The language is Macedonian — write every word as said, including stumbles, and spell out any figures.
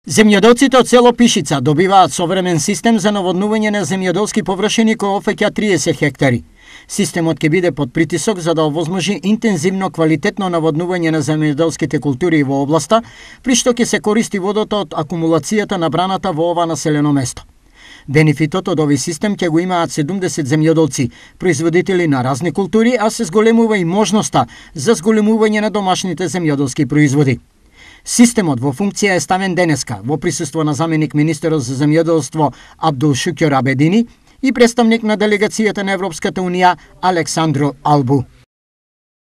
Земјоделците од село Пишица добиваат современ систем за наводнување на земјоделски површини кој опфаќа триесет хектари. Системот ќе биде под притисок за да овозможи интензивно квалитетно наводнување на земјоделските култури во областа, при што ќе се користи водата од акумулацијата набраната во ова населено место. Бенефитот од овој систем ќе го имаат седумдесет земјоделци, производители на разни култури, а се зголемува и можноста за зголемување на домашните земјоделски производи. Системот во функција е ставен денеска во присуство на заменик министерот за земјоделство Абдулшукер Абедини и представник на делегацијата на Европската унија Александро Албу.